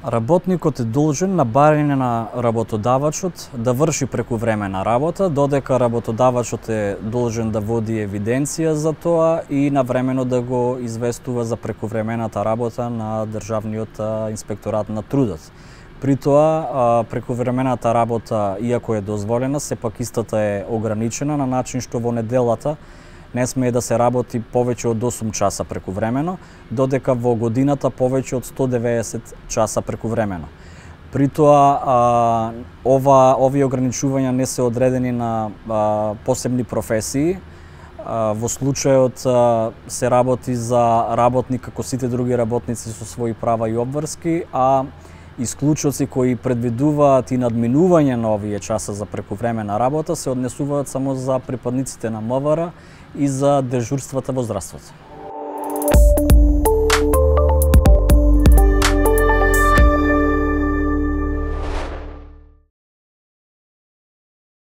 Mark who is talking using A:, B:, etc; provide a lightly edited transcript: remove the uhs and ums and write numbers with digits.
A: Работникот е должен на барање на работодавачот да врши прекувремена работа, додека работодавачот е должен да води евиденција за тоа и навремено да го известува за прекувремената работа на Државниот инспекторат на трудот. При тоа, прекувремената работа, иако е дозволена, сепак истата е ограничена на начин што во неделата не смее да се работи повеќе од 8 часа прекувремено, додека во годината повеќе од 190 часа прекувремено. При тоа, овие ограничувања не се одредени на посебни професии. Во случајот се работи за работник како сите други работници со своји права и обврски, а исклучоци кои предвидуваат и надминување на овие часа за прекувремена работа се однесуваат само за припадниците на МВР и за дежурствата во здравството.